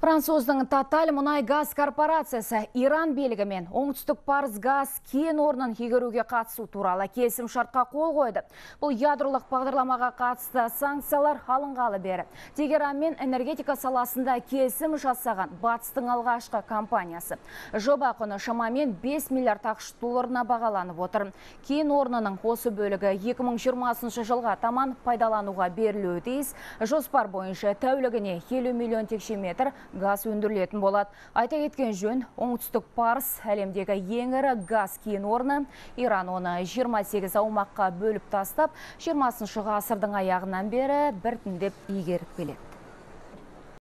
Француздың Total мұнай газ корпорациясы Иран белігімен оңтүстік парыз газ кен орнын игеруге қатысу туралы келісім шартқа қол қойды. Бұл ядролық бағдарламаға қатысты санкциялар алынғалы бері. Тегеранмен энергетика саласында келісім жасаған батыстың алғашқы компаниясы. Жоба құны шамамен 5 миллиард ақш долларына бағаланып отыр. Кен орнының осы бөлігі 2020 жылға таман пайдалануға берілуі тиіс. Жоспар бойынша тәулігіне 50 миллион текше метр газ өндірілетін болады. Айта кеткен жөн, оңтүстік парыз әлемдегі ең ірі газ кен орны. Иран оны 28 аумаққа бөліп тастап, 20 ғасырдың аяғынан бері біртіндеп игеріп келеді.